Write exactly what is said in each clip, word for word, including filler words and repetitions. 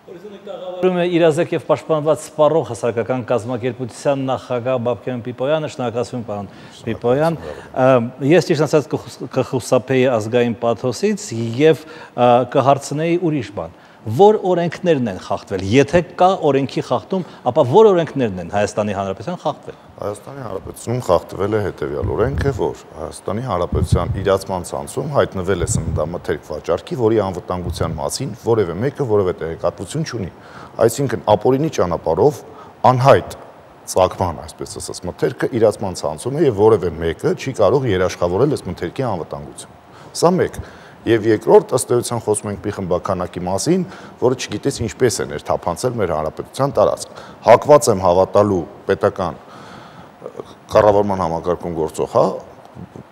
Օրինակ է իրազեկ եւ պաշտպանված սպառող հասարակական կազմակերպության նախագահ Բաբկեն Պիպոյանը, շնորհակալություն պարոն Պիպոյան, ես ճիշտ ասած կխուսափեի ազգային պաթոսից եւ կհարցնեի ուրիշ բան, որ օրենքներն են խախտվել, եթե կա օրենքի խախտում, ապա որ օրենքներն են Հայաստանի Հանրապետության խախտվել։ Հայաստանի Հանրապետությունում խախտվել է հետևյալ օրենքը, որ Հայաստանի Հանրապետության իրացման ցանցում հայտնվել է սննդամթերք վաճառքի, որի անվտանգության մասին որևէ մեկը որևէ տեղեկատվություն չունի։ Այսինքն ապօրինի ճանապարհով անհայտ ծագման, այսպես ասած, մթերքը իրացման ցանցում է եւ որևէ մեկը չի կարող երաշխավորել այս մթերքի անվտանգությունը։ Սա մեկ։ Եվ երկրորդ, ըստ էության խոսում ենք մի խմբականակի մասին, որը չգիտես ինչպես է ներթափանցել մեր հանրապետության տարածք։ Հակված եմ հավատալու պետական կառավարման համակարգում գործող, հա,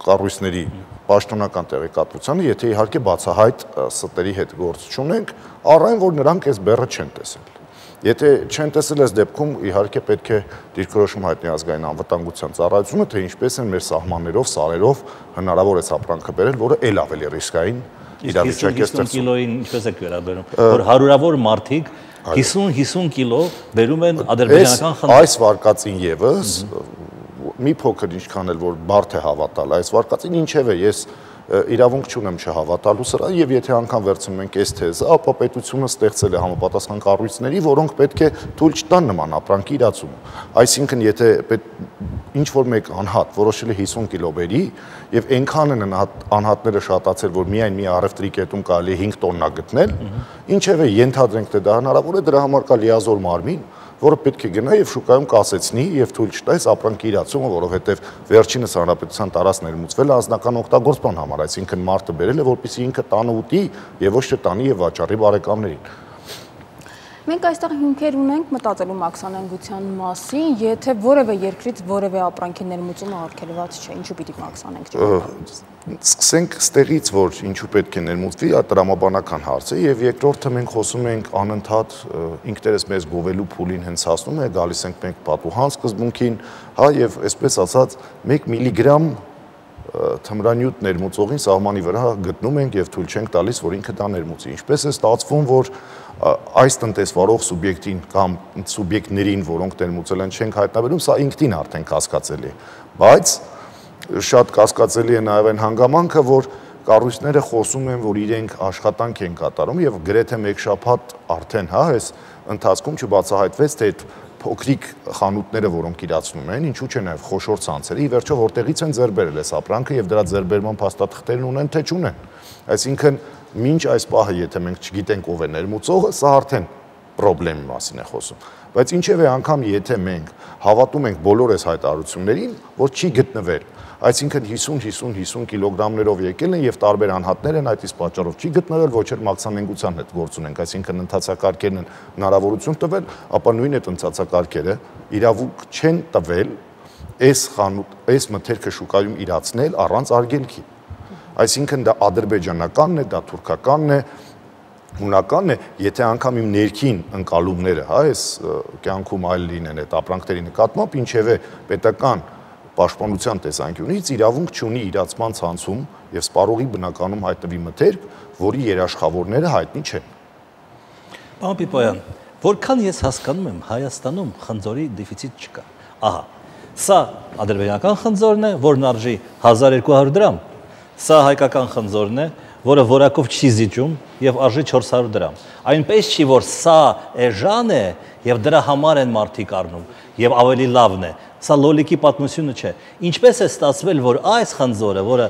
կառույցների պաշտոնական տեղեկատվությանը, եթե իհարկե բացահայտ ստերի հետ գործ չունենք, առայն որ նրանք այս բեռը չեն տեսել։ Եթե չեն տեսել այս դեպքում, իհարկե պետք է դիրքորոշում հայտնի ազգային անվտանգության ծառայությունը, թե ինչպես են մեր սահմաններով, սարերով հնարավոր է ապրանքը բերել, որը ել ավելի ռիսկային իրավիճակ է ստեղծում։ Կիլոին ինչպես եք վերաբերում, որ հարյուրավոր մարդիկ հիսուն կիլո բերում են ադրբեջանական խնձոր։ Այս վարկածին եւս մի փոքր ինչքան էլ որ բարդ է հավատալ, այս վարկածին ինչեւ է ես իրավունք չունեմ չհավատալու սրա եւ եթե անգամ վերցնում ենք այս թեզը, ապա պետությունը ստեղծել է համապատասխան կառույցների, որոնք պետք է թույլ չտան նման ապրանքի իրացումը։ Այսինքն եթե ինչ որ մեկ անհատ որոշել է հիսուն կիլո բերի եւ այնքան են անհատները շատացել, որ միայն մի առևտրի կետում կարելի է հինգ տոննա գտնել, ինչեւ է ենթադրենք թե դա հնարավոր է, դրա համար կա լիազոր մարմին, որը պետք է գնա եւ շուկայում կասեցնի եւ թույլ չտա այս ապրանքի իրացումը, որովհետեւ վերջինս հանրապետության տարածք ներմուծվել է անձնական օգտագործման համար, այսինքն մարդը բերել է, որպեսզի ինքը տանը ուտի եւ ոչ թե տանի եւ վաճառի բարեկամներին։ Մենք այստեղ հիմքեր ունենք մտածելու մաքսանենգության մասին, եթե որևէ երկրից որևէ ապրանքի ներմուծումը արգելված չէ, ինչու պիտի մաքսանենք չկարողանանք։ Սկսենք ստեղից, որ ինչու պետք է ներմուծվի, դա տրամաբանական հարց է եւ երկրորդը մենք խոսում ենք անընդհատ ինքներս մեզ գովելու փուլին հենց հասնում է, գալիս ենք մենք պատուհան սկզբունքին, հա եւ այսպես ասած մեկ միլիգրամ թմրանյութ ներմուծողին սահմանի վրա գտնում ենք եւ թույլ չենք տալիս, որ ինքը դա ներմուծի։ Ինչպես է ստացվում, որ այս տնտեսվարող սուբյեկտին կամ սուբյեկտներին, որոնք ներմուծել են, չենք հայտնաբերում, սա ինքնին արդեն կասկածելի է։ Բայց շատ կասկածելի է նաեւ այն հանգամանքը, որ կառույցները խոսում են, որ իրենք աշխատանք են կատարում եւ գրեթե մեկ շաբաթ արդեն, հա, այս ընթացքում չբացահայտվեց, թե այդ փոքրիկ խանութները, որոնք իրացնում են, ինչու՞ չէ նաեւ խոշոր ցանցերը, ի վերջո որտեղից են ձեռ բերել այս ապրանքը եւ դրա ձեռբերման փաստաթղթերն ունեն, թե չունեն։ Այսինքն մինչ այս պահը, եթե մենք չգիտենք ով է ներմուծողը, սա արդեն խնդրի մասին է խոսում։ Բայց ինչեւ է անգամ եթե մենք հավատում ենք բոլոր այս հայտարարություններին, որ չի գտնվել, այսինքն հիսուն հիսուն հիսուն կիլոգրամներով եկել են եւ տարբեր անհատներ են այդ իսկ պատճառով չի գտնվել, ոչ էլ մաքսանենգության հետ գործ ունենք, այսինքն ընթացակարգերն են հնարավորություն տվել, ապա նույն այդ ընթացակարգերը իրավունք չեն տվել այս խանութ, այս մթերքը շուկայում իրացնել առանց արգելքի։ Այսինքն դա ադրբեջանականն է, դա թուրքականն է, հունականն է, եթե անգամ իմ ներքին ընկալումները, հա, այս կյանքում այլ լինեն այդ ապրանքների նկատմամբ, ինչևէ պետական պաշտպանության տեսանկյունից իրավունք չունի իրացման ցանցում եւ սպառողի բնականում հայտնվի մթերք, որի երաշխավորները հայտնի չեն։ Պարոն Պիպոյան, որքան ես հասկանում եմ, Հայաստանում խնձորի դեֆիցիտ չկա։ Ահա, սա ադրբեջանական խնձորն է, որն արժի հազար երկու հարյուր դրամ, սա հայկական խնձորն է, որը որակով չի զիջում եւ արժի չորս հարյուր դրամ։ Այնպես չի, որ սա էժան է եւ դրա համար են մարդիկ առնում եւ ավելի լավն է։ Սա լոլիկի պատմությունը չէ։ Ինչպես է ստացվել, որ այս խնձորը, որը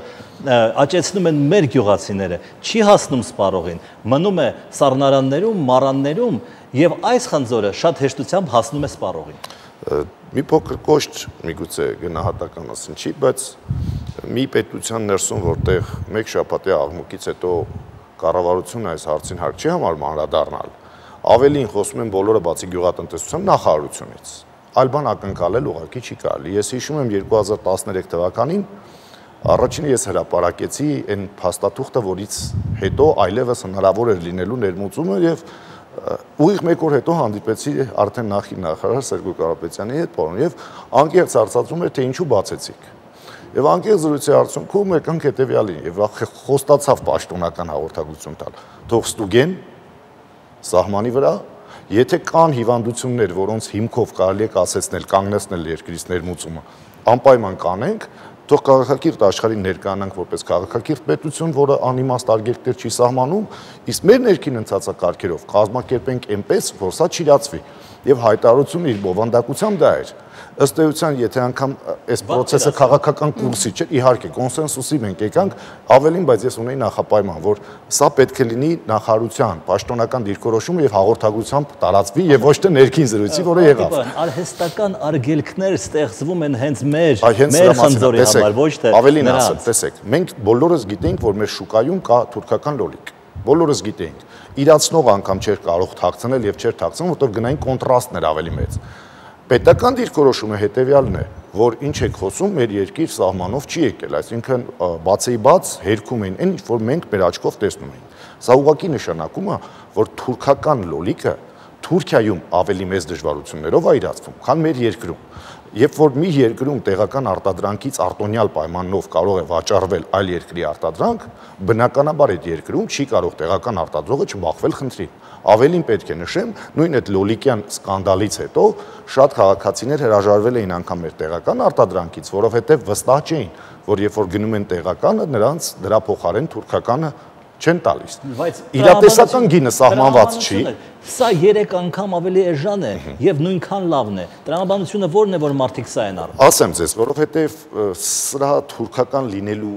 աճեցնում են մեր գյուղացիները, չի հասնում սպառողին, մնում է սառնարաններում, մառաններում եւ այս խնձորը շատ հեշտությամբ հասնում է սպառողին։ Մի փոքր կոշտ միգուցե գնահատական ասեն չի, բայց մի պետության ներսում, որտեղ մեկ շաբաթի աղմուկից հետո կառավարությունը այս հարցին հարկ չի համարում անդրադառնալ, ավելին խոսում են բոլորը բացի գյուղատնտեսության նախարարությունից, այլ բան ակնկալել ուղղակի չի կարելի։ Ես հիշում եմ երկու հազար տասներեք թվականին առաջինը ես հրապարակեցի այն փաստաթուղթը, որից հետո այլևս հնարավոր էր լինելու ներմուծումը եւ ուղիղ մեկ օր հետո հանդիպեցի արդեն նախին նախարար Սերգո Կարապետյանի հետ, պարոն, եւ անկեղծ հարցածում էր, թե ինչու բացեցիք։ Եվ անկեղծ զրույցի արդյունքում եկանք հետեւյալին եւ խոստացավ պաշտոնական հաղորդագրություն տալ։ Թող ստուգեն սահմանի վրա Եթե կան հիվանդություններ, որոնց հիմքով կարելի է կասեցնել, կանգնեցնել երկրից ներմուծումը, անպայման կանենք, թող քաղաքակիրթ աշխարհին ներկայանանք որպես քաղաքակիրթ պետություն, որը անիմաստ արգելքներ չի սահմանում, իսկ մեր ներքին ընթացակարգերով կազմակերպենք այնպես, որ սա չիրացվի։ Եվ հայտարարությունը իր բովանդակությամբ դա էր։ Ըստ էության, եթե անգամ այս process-ը քաղաքական կուրսի չէ, իհարկե կոնսենսուսի մենք եկանք, ավելին, բայց ես ունեի նախապայման, որ սա պետք է լինի նախարարության պաշտոնական դիրքորոշումը եւ հաղորդագրությամբ տարածվի եւ ոչ թե ներքին զրույցի, որը եղավ։ Արհեստական արգելքներ ստեղծվում են հենց մեր մեր խնձորի համար, ոչ թե ավելին ասեմ, տեսեք, մենք բոլորս գիտենք, որ մեր շուկայում կա թուրքական լոլիկ։ Բոլորս գիտենք։ Իրացնող անգամ չէր կարող թաքցնել եւ չէր թաքցնում, որտեղ գնային կոնտրաստն էր ավելի մեծ։ Պետական դիրքորոշումը հետեւյալն է, որ ինչ եք խոսում, մեր երկիր սահմանով չի եկել, այսինքն բացի բաց հերքում են այն, որ մենք մեր աչքով տեսնում ենք։ Սա ուղղակի նշանակում է, որ թուրքական լոլիկը Թուրքիայում ավելի մեծ դժվարություններով է իրացվում, քան մեր երկրում։ Երբ որ մի երկրում տեղական արտադրանքից արտոնյալ պայմանով կարող է վաճառվել այլ երկրի արտադրանք, բնականաբար այդ երկրում չի կարող տեղական արտադրողը չբախվել խնդրին։ Ավելին պետք է նշեմ, նույն այդ լոլիկյան սկանդալից հետո շատ քաղաքացիներ հրաժարվել էին անգամ մեր տեղական արտադրանքից, որովհետև վստահ չէին, որ երբ որ գնում են տեղականը, նրանց դրա փոխարեն թուրքականը չեն տալիս։ Իրատեսական գինը սահմանված չի։ Սա երեք անգամ ավելի էժան է եւ նույնքան լավն է։ Տրամաբանությունը ո՞րն է, որ մարդիկ սա են առնում։ Ասեմ ձեզ, որովհետեւ սրա թուրքական լինելու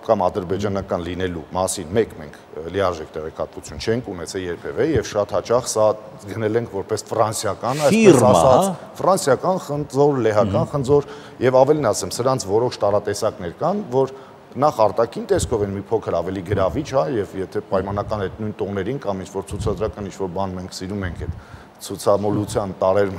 կամ ադրբեջանական լինելու մասին մեկ մենք լիարժեք տեղեկատվություն չենք ունեցել երբևէ եւ շատ հաճախ սա գնել ենք որպես ֆրանսիական, այսպես ասած, ֆրանսիական խնձոր, լեհական խնձոր եւ ավելին ասեմ, սրանց որոշ տարատեսակներ կան, որ նախ արտաքին տեսքով են մի փոքր ավելի գրավիչ, հա, եւ եթե պայմանական այդ նույն տոներին կամ ինչ-որ ցուցադրական ինչ-որ բան մենք սիրում ենք այդ ցուցամոլության տարեր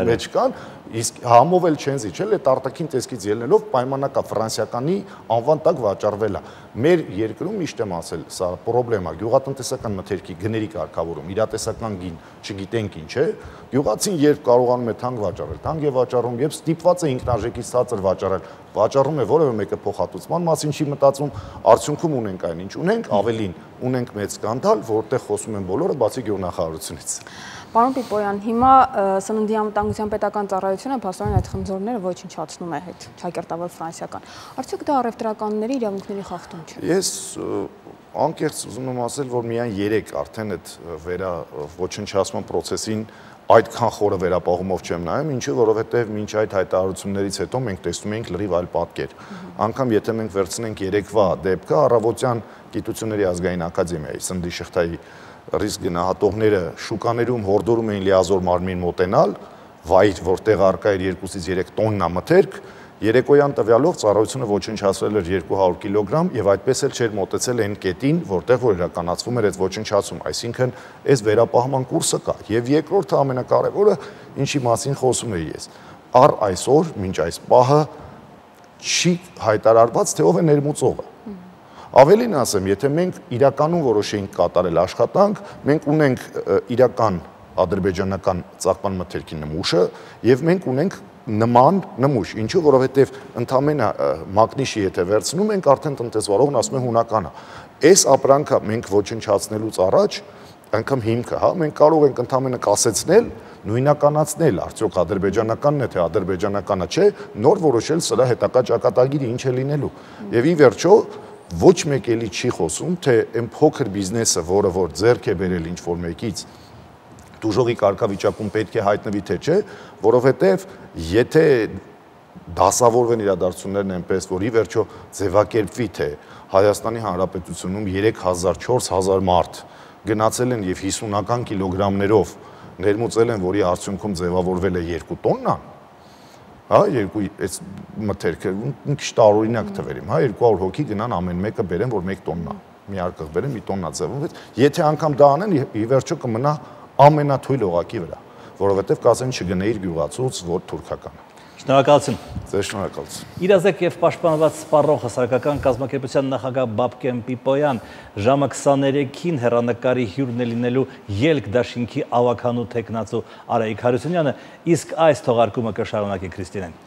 մեջ կան, իսկ համով էլ չեն զիջել, այդ արտաքին տեսքից ելնելով պայմանական ֆրանսիականի անվան տակ վաճառվելա։ Մեր երկրում միշտ եմ ասել, սա խնդրեմ է, գյուղատնտեսական մթերքի գների կարգավորում, իրատեսական գին, չգիտենք ինչ է, գյուղացին երբ կարողանում է թանկ վաճառել, թանկ է վաճառում, եւ ստիպված է ինքնարժեքից ցածր վաճառել, վաճառում է որևէ մեկը փոխհատուցման մասին չի մտածում, արդյունքում ունենք այն ինչ ունենք, ավելին ունենք մեծ սկանդալ, որտեղ խոսում են բոլորը բացի գյուղնախարարությունից։ Պարոն Պիպոյան, հիմա Սննդի անվտանգության պետական ծառայությունը փաստորեն այդ խնձորները ոչնչացնում է հետ, ճակերտավոր ֆրանսիական։ Արդյոք դա առևտրականների իրավունքների խախտում չէ։ Ես անկեղծ ուզում եմ ասել, որ միայն երեք արդեն այդ վերա ոչնչացման process-ին այդքան խորը վերապահումով չեմ նայում, ինչը որովհետև մինչ այդ հայտարարություններից հետո մենք տեսնում ենք լրիվ այլ պատկեր։ Անկամ եթե մենք վերցնենք երեկվա դեպքը, Առավոտյան Գիտությունների ազգային ակադեմիայի Սննդի շղթայի ռիսկ գնահատողները շուկաներում հորդորում էին լիազոր մարմին մոտենալ, վայր, որտեղ առկա էր երկուսից երեք տոննա մթերք, երեկոյան տվյալով ծառայությունը ոչնչացրել էր երկու հարյուր կիլոգրամ եւ այդպես էլ չէր մոտեցել այն կետին, որտեղ որ իրականացվում էր այդ ոչնչացում, այսինքն այս վերապահման կուրսը կա։ Եվ երկրորդը ամենակարևորը, ինչի մասին խոսում եի ես, առ այսօր, մինչ այս պահը չի հայտարարված, թե ով է ներմուծողը։ Ավելին ասեմ, եթե մենք իրականում որոշեինք կատարել աշխատանք, մենք ունենք իրական ադրբեջանական ծաղկման մթերքի նմուշը եւ մենք ունենք նման նմուշ, ինչու որովհետեւ ընդամենը մագնիշի եթե վերցնում ենք, արդեն տնտեսվարողն ասում է հունականը։ Այս ապրանքը մենք ոչնչացնելուց առաջ անգամ հիմքը, հա, մենք կարող ենք ընդամենը կասեցնել, նույնականացնել, արդյոք ադրբեջանականն է թե ադրբեջանականը չէ, նոր որոշել սրա հետագա ճակատագիրը ինչ է լինելու։ Եվ ի վերջո ոչ մեկ էլի չի խոսում, թե այն փոքր բիզնեսը, որը որ ձեռք է բերել ինչ-որ մեկից, դուժողի կարգավիճակում պետք է հայտնվի թե չէ, որովհետև եթե դասավորվեն իրադարձություններն այնպես, որ ի վերջո ձևակերպվի, թե Հայաստանի Հանրապետությունում երեք հազար, չորս հազար մարդ գնացել են եւ հիսունական կիլոգրամներով ներմուծել են, որի արդյունքում ձևավորվել է երկու տոննա, հա, երկու այս մթերքը մի քիչ տարօրինակ թվեր իմ, հա, երկու հարյուր հոգի գնան ամեն մեկը բերեն, որ մեկ տոննա, մի արկղ բերեն, մի տոննա ձևավորվեց, եթե անգամ դա անեն, ի վերջո կմնա ամենաթույլ օղակի վրա, որովհետև կասեն չգնեիր գյուղացուց, որ թուրքական։ Շնորհակալություն։ Ձեզ շնորհակալություն։ Իրազեկ եւ պաշտպանված սպառող հասարակական կազմակերպության նախագահ Բաբկեն Պիպոյան ժամը քսաներեքին հեռանկարի հյուրն է լինելու Ելք դաշինքի ավականու թեկնածու Արայիկ Հարությունյանը, իսկ այս թողարկումը կշարունակի Քրիստինեն։